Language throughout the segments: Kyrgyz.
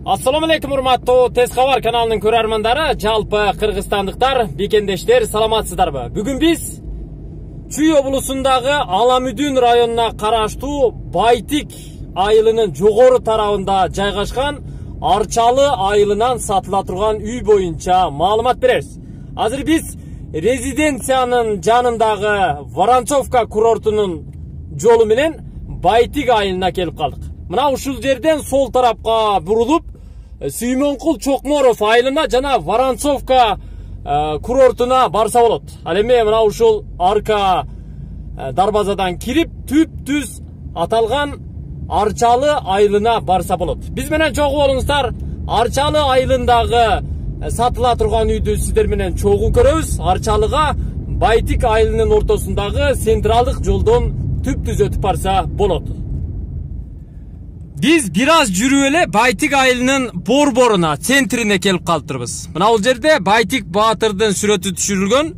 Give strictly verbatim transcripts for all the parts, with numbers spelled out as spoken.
Ассаламу алейкум, урматтуу Тез Кабар каналынын көрөрмандары, жалпы кыргызстандыктар, бекендештер, саламатсыздарбы? Бүгүн биз Чүй облусундагы Аламүдүн районуна караштуу Байтик айылынын жогору тарабында жайгашкан Арчалы айылынан сатыла турган үй боюнча маалымат беребиз. Азыр биз резиденциянын жанындагы Воронцовка курортунун жолу менен Байтик айылына келип калдык. Мына ушул жерден сол тарапка бурулуп, Сүймөнкул Чокморов айылына жана Воронцовка курортуна барса болот. Ал эми мына ушул арка дарбазадан кирип, түп-түз аталган Арчалы айылына барса болот. Биз менен чогуу болуңуздар. Арчалы айылындагы сатыла турган үйдү сиздер менен чогуу көрөбүз. Арчалыга Байтик айылынын ортосундагы централдык жолдон түп-түз өтүп барса болот. Биз бир аз жүрүп эле Байтик айылынын борборуна, центрине келип калыптырбыз. Мына бул жерде Байтик Баатырдын сүрөтү түшүрүлгөн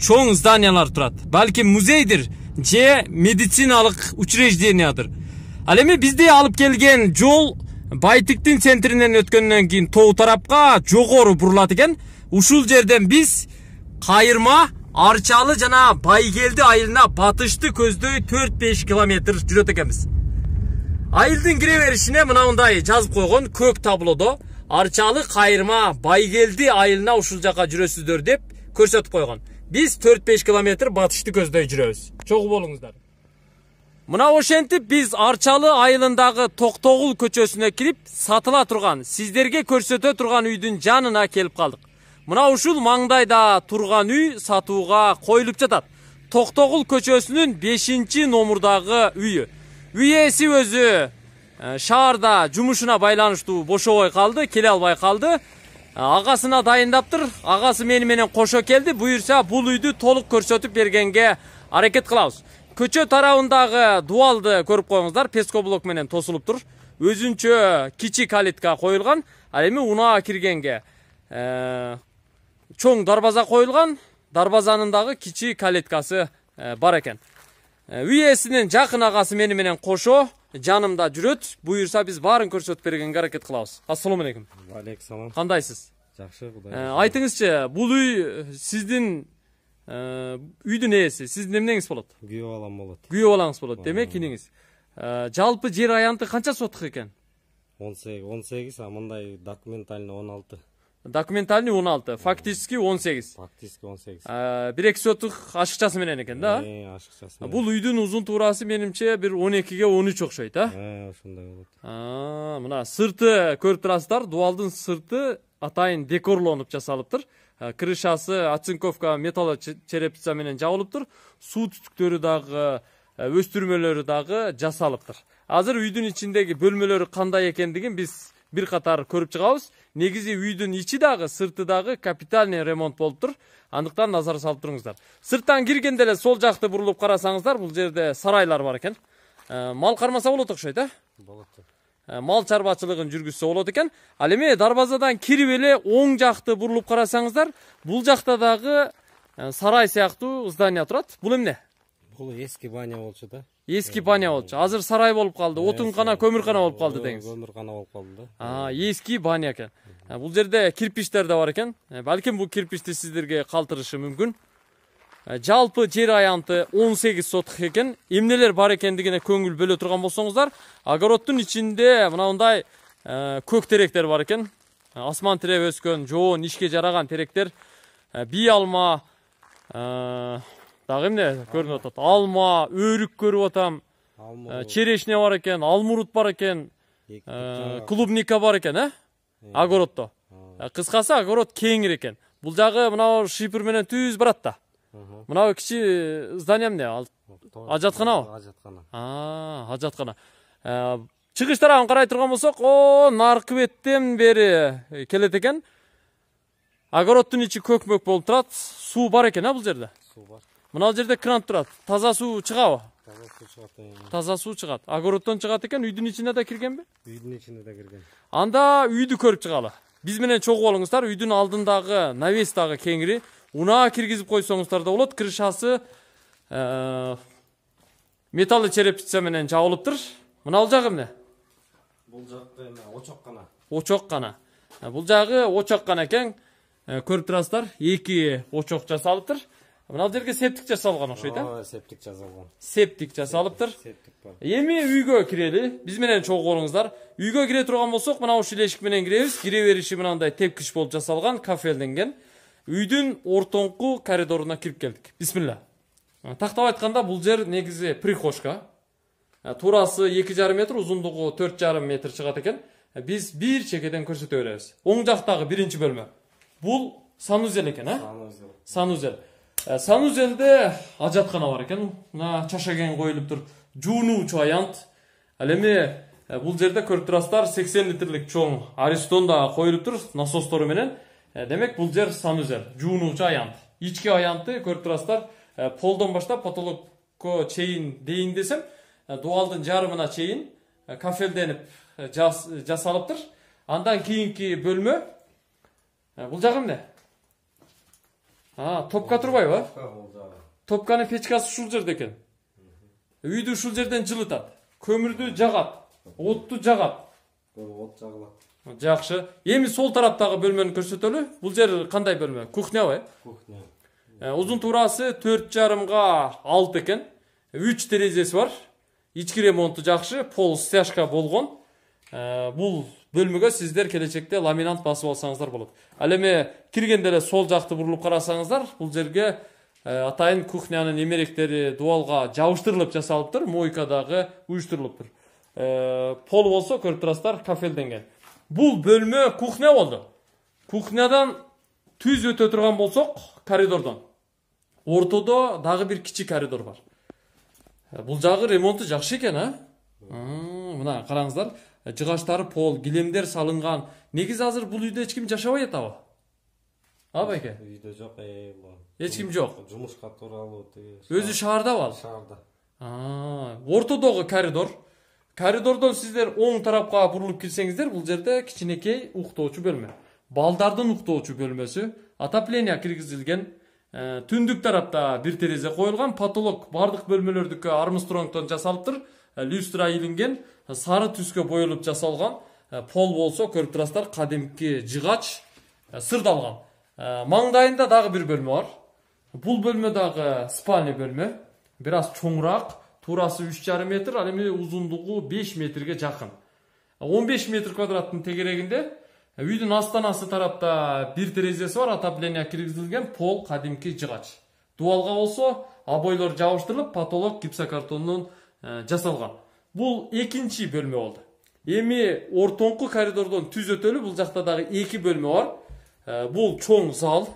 чоң зданиялар турат. Балким музейдир же медициналык учреждениядыр. Ал эми бизди алып келген жол Байтиктин центринен өткөндөн кийин тоо тарапка жогору бурулат экен. Ушул жерден биз кайырма Арчалы жана Байгелди айылына батышты көздөй төрт беш километр жүрөт экенбиз. Айылдын кире беришине мынандай жазып койгон көк таблодо Арчалы кайырма Байгелди айылына ушул жака жүрөсүздөр деп көрсөтүп койгон. Биз төрт беш километр батышты көздөй жүрөбүз. Чогуу болуңуздар. Мына ошентип биз Арчалы айылындагы Токтогул көчөсүнө кирип, сатыла турган, сиздерге көрсөтө турган үйдүн жанына келип калдык. Мына ушул маңдайда турган үй сатууга коюлуп жатат. Токтогул көчөсүнүн бешинчи номурдагы үйү. Үй ээси өзү шаарда жумушуна байланыштуу бошобой калды, келе албай калды. Агасына дайындаптыр. Агасы мени менен кошо келди. Буюрса бул үйдү толук көрсөтүп бергенге аракет кылабыз. Көчө тарабындагы дуалды көрүп коюңуздар, пескоблок менен тосулуп тур. Өзүнчө кичи калитка коюлган. Ал эми унаа киргенге чоң дарбаза коюлган. Дарбазанын дагы кичи калиткасы бар экен. Үй ээсинин жакын агасы мени менен кошо жанымда жүрөт. Буюрса биз баарын көрсөтүп бергенге аракет кылабыз. Ассаламу алейкум. Алейкум салам. Кандайсыз? Жакшы, Кудай. Айтыңызчы, бул үй сиздин үйдүн ээси, сиздин эмнеңиз болот? Күйөө балам болот. Күйөө балаңыз болот, демек киниңиз. Жалпы жер аянты канча сотук экен? он сегиз, а мындай документальный он алты. Документальный он алты, фактически он сегиз. Фактически он сегиз. бир эки сотук ашыкчасы менен экен да? Э, ашыкчасы. Бул үйдүн узун туурасы менимче бир он экиге он үч окшойт, а? Э, ошондой болот. А, мына сырты көрүп турасыздар, дуалдын сырты атайын декорлонуп жасалыптыр. Крышасы оцинковка металл черепица менен жабылыптыр. Суу түтүктөрү дагы, өстүрмөлөрү дагы жасалыптыр. Азыр үйдүн ичиндеги бөлмөлөрү кандай экендигин биз бир катар көрүп чыгабыз. Негизи үйдүн ичи дагы, сырты дагы капитальный ремонт болуптур. Андыктан назар салып туруңуздар. Сырттан киргенде эле сол жакты бурулуп карасаңыздар, бул жерде сарайлар бар экен. Мал кармаса болот окшойт, а? Болот. Мал чарбачылыгын жүргүзсө болот экен. Ал эми дарбазадан кирип эле оң жакты бурулуп карасаңыздар, бул жакта дагы сарай сыяктуу здание турат. Бул эмне? Бул эски баня болчу да. Эски баня болчу. Азыр сарай болуп калды, отункана, көмүркана болуп калды деңиз. Көмүркана болуп калды да. А, эски баня экен. Бул жерде кирпичтер да бар экен. Балким бул кирпичти сиздерге калтырышы мүмкүн. Жалпы жер аянты он сегиз сотук экен. Эмнелер бар экендигине көңүл бөлө турган болсоңуздар, огороддун ичинде мынандай көк теректер бар экен. Асман тиреп өскөн, жоон, ишке жараган теректер. Бий алма, дагы эмне көрүнүп атат? Алма, өрүк көрүп атам. Черешня бар экен, алмурут бар экен. Клубника бар экен, э? Огороддо. Кыскасы огород кеңир экен. Бул жагы мына шипер менен түз барат да. Мына кичи здание эмне? Ажатканабы? Ажаткана. А, ажаткана. Чыгыш тарабын карай турган болсок, о, наркы беттен бери келет экен. Огороддун ичи көкмөк болуп турат. Суу бар экен, а бул жерде? Суу бар. Мына бул жерде кран турат. Таза суу чыгабы? Таза суу чыгат. Таза суу чыгат. Огороддон чыгат экен, үйдүн ичине да киргенби? Үйдүн ичине да кирген. Анда үйдү көрүп чыгалы. Биз менен чогуу болуңуздар. Үйдүн алдындагы навес дагы кеңири. Унаа киргизип койсоңуздар да болот. Крышасы металл черепица менен жабылыптыр. Мына бул жагы эмне? Бул жакы эме очок гана. Очок гана. Бул жагы очок гана экен. Көрүп турасыздар, эки очок жасалыптыр. Мына жерге септик жасалган окшойт, а? Ооба, септик жасалган. Септик жасалыптыр. Септик бар. Эми үйгө кирели. Биз менен чогуу болуңуздар. Үйгө кире турган болсок, мына ушул эшик менен киребиз. Кире бериши мынандай тепкич болуп жасалган, кафелденген. Үйдүн ортоңку коридоруна кирип келдик. Бисмилла. Тактап айтканда, бул жер негизи прихожка. Турасы эки жарым метр, узундугу төрт жарым метр чыгат экен. Биз бир чекеден көрсөтө беребиз. Оң жактагы биринчи бөлмө. Бул санузел экен, а? Санузел. Санузел. Санузелде ажаткана бар экен. Мына чашаген коюлуп тур. Жуунуучу аянт. Ал эми бул жерде көрүп турасыздар, сексен литрлик чоң аристон да коюлуп тур, насостору менен. Демек бул жер санузел, жуунуучу аянт. Ички аянты көрүп турасыздар, полдон баштап потолокко чейин дейин десем, дуалдын жарымына чейин кафелденип жасалыптыр. Андан кийинки бөлмө бул жагы эмне? А, топка турбайбы? Топканын печкасы ушул жерде экен. Үйдү ушул жерден жылытат. Көмүрдү жагат, отту жагат. От жагылат. Жакшы. Эми сол тараптагы бөлмөнү көрсөтөлү. Бул жер кандай бөлмө? Кухнябы? Кухня. Узун турасы төрт жарымга алты экен. үч терезеси бар. Ички ремонту жакшы, пол стяжка болгон. Бул бөлмөгө сиздер келечекте ламинант басып алсаңыздар болот. Ал эми киргенде эле сол жакты бурулуп карасаңыздар, бул жерге атайын кухнянын эмеректери дуалга жабыштырылып жасалыптыр, мойка дагы уюштурулуптур. Пол болсо көрүп турасыздар, кафелденген. Бул бөлмө кухня болду. Кухнядан түз өтө турган болсок, коридордон ортодо дагы бир кичи коридор бар. Бул жагы ремонту жакшы экен, а? Мына караңыздар, жыгаштары пол, килемдер салынган. Негизи азыр бул үйдө эч ким жашабай атабы? А байке? Үйдө жок, э, эч ким жок. Жумушка тууралуу тиги. Өзү шаардабы ал? Шаарда. А, ортодогу коридор. Коридордон сиздер оң тарапка бурулуп кирсеңиздер, бул жерде кичинекей уктоочу бөлмө. Балдардын уктоочу бөлмөсү, отопление киргизилген. Түндүк тарапта бир терезе коюлган, потолок бардык бөлмөлөрдүккө Армстронгдон жасалыптыр. Люстра илинген, сары түскө боелуп жасалган. Пол болсо көрүп турасыздар, кадимки жыгач сырдалган. Маңдайында дагы бир бөлмө бар. Бул бөлмө дагы спальня бөлмө. Бир аз чоңураак, турасы үч жарым метр, ал эми узундугу беш метрге жакын. он беш метр квадраттын тегерегинде үйдүн астанасы тарапта бир терезеси бар, отопление киргизилген, пол кадимки жыгач. Дуалга болсо обойлор жабыштырылып, потолок гипсокартондон жасалган. Бул экинчи бөлмө болду. Эми ортоңку коридордон түз өтөлү, бул жакта дагы эки бөлмө бар. Бул чоң зал,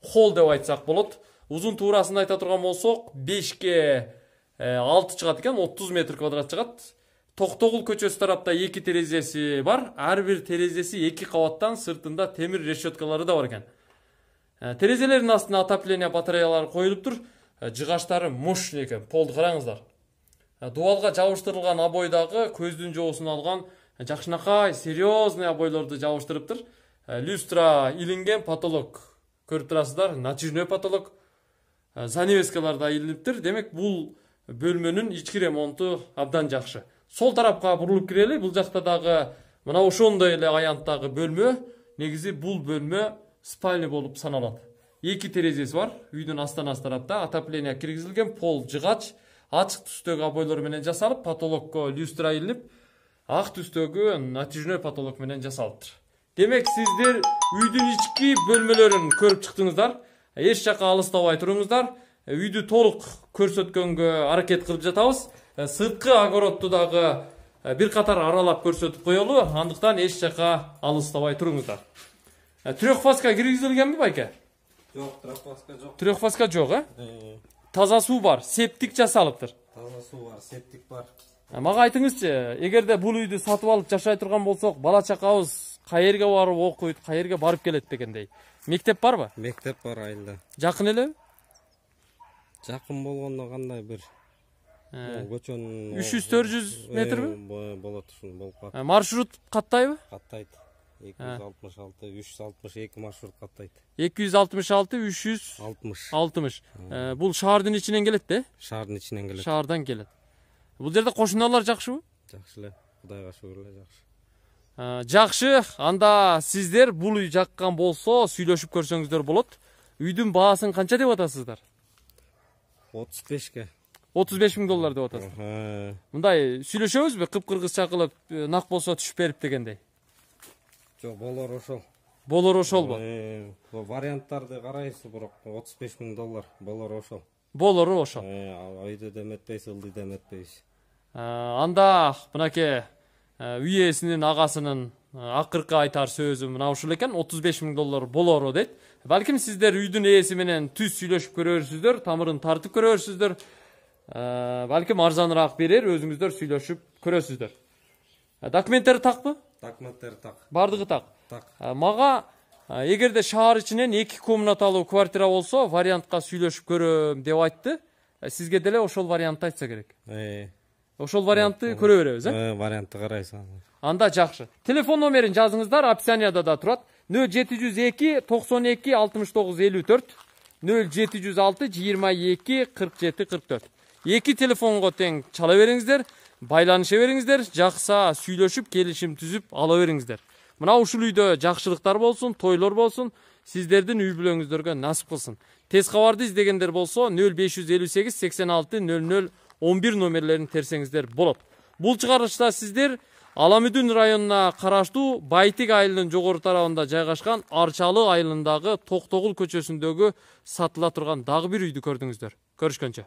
холл деп айтсак болот. Узун туурасын айта турган болсок, бешке алты чыгат экен, отуз метр квадрат чыгат. Токтогул көчөсү тарапта эки терезеси бар. Ар бир терезеси эки кабаттан, сыртында темир решеткалары да бар экен. Терезелердин астына отопление батареялары коюлуптур. Жыгаштары мощный экен. Полду караңыздар. Дуалга жабыштырылган обойдагы көздүн жоосун алган жакшынакай серьезный обойлорду жабыштырыптыр. Люстра илинген, потолок көрүп турасыздар, натяжной потолок. Занавескалар да илиниптир. Демек бул бөлмөнүн ички ремонту абдан жакшы. Сол тарапка бурулуп кирели. Бул жакта дагы мына ошондой эле аянттагы бөлмө. Негизи бул бөлмө спальня болуп саналат. Эки терезеси бар. Үйдүн астанасы тарапта отопление киргизилген, пол жыгач, ачык түстөгү обойлор менен жасалып, потолокко люстра илинип, ак түстөгү натяжной потолок менен жасалыптыр. Демек сиздер үйдүн ички бөлмөлөрүн көрүп чыктыңыздар. Эч жака алыстабай туруңуздар. Үйдү толук көрсөткөнгө аракет кылып жатабыз. Сырткы огородду дагы бир катар аралап көрсөтүп коелу, андыктан эч жака алыстабай туруңуздар. Трехфазка киргизилгенби байке? Жок, трехфазка жок. Трехфазка жок, а? Таза суу бар, септик жасалыптыр. Таза суу бар, септик бар. Мага айтыңызчы, эгерде бул үйдү сатып алып жашай турган болсок, бала чакабыз каерге барып окуйт, каерге барып келет дегендей. Мектеп барбы? Мектеп бар айылда. Жакын эле? Жакын болгондо кандай бир көчөнүн үч жүз төрт жүз метрби? Болот, ушул болуп калат. Маршрут каттайбы? Каттайт. эки жүз алтымыш алты, үч жүз алтымыш эки маршрут каттайт. эки жүз алтымыш алты, үч жүз алтымыш. Бул шаардын ичинен келет да? Шаардын ичинен келет. Шаардан келет. Бул жерде кошуналар жакшыбы? Жакшы эле. Кудайга шүгүр эле жакшы. Жакшы, анда сиздер бул үй жаккан болсо сүйлөшүп көрсөңүздөр болот. Үйдүн баасын канча деп атасыздар? отуз бешке. отуз беш миң доллар деп атасыздар. Мындай сүйлөшөбүзбү? Кыпкыргызча кылып, нак болсо түшүп берип дегендей. Жок, болор ошол. Болор ошолбу? Варианттарды карайсыз, бирок отуз беш миң доллар болор ошол. Болору ошол. Ойду деметпейсиз, ылды деметпейсиз. Анда мынакей үй ээсинин агасынын акыркы айтар сөзү мына ушул экен, отуз беш миң доллар болору дейт. Балким сиздер үйдүн ээси менен түз сүйлөшүп көрөрсүздөр, тамырын тартып көрөрсүздөр. Балким арзаныраак берер, өзүңүздөр сүйлөшүп көрөсүздөр. Документтери такпы? Документтери так. Бардыгы так. Так. Мага эгерде шаар ичинен эки комнаталуу квартира болсо, вариантка сүйлөшүп көрөм деп айтты. Сизге деле ошол вариантты айтса керек. Ошол вариантты көрө беребиз, э? Вариантты карайсыз. Анда жакшы. Телефон номерин жазыңыздар, описанияда да турат. нөл жети жүз эки токсон эки алтымыш тогуз элүү төрт, нөл жети жүз алты жыйырма эки кырк жети кырк төрт. Эки телефонго тең чала бериңиздер, байланыша бериңиздер, жакса сүйлөшүп, келишим түзүп ала бериңиздер. Мына ушул үйдө жакшылыктар болсун, тойлор болсун, сиздердин үй бүлөңүздөргө насип кылсын. Тез кабарды издегендер болсо нөл беш жүз элүү сегиз сексен алты нөл нөл он бир номерлерин терсеңиздер болот. Бул чыгарылышта сиздер Аламүдүн районуна караштуу Байтик айылынын жогору тарабында жайгашкан Арчалы айылындагы Токтогул көчөсүндөгү сатыла турган дагы бир үйдү көрдүңүздөр. Көрүшкөнчө.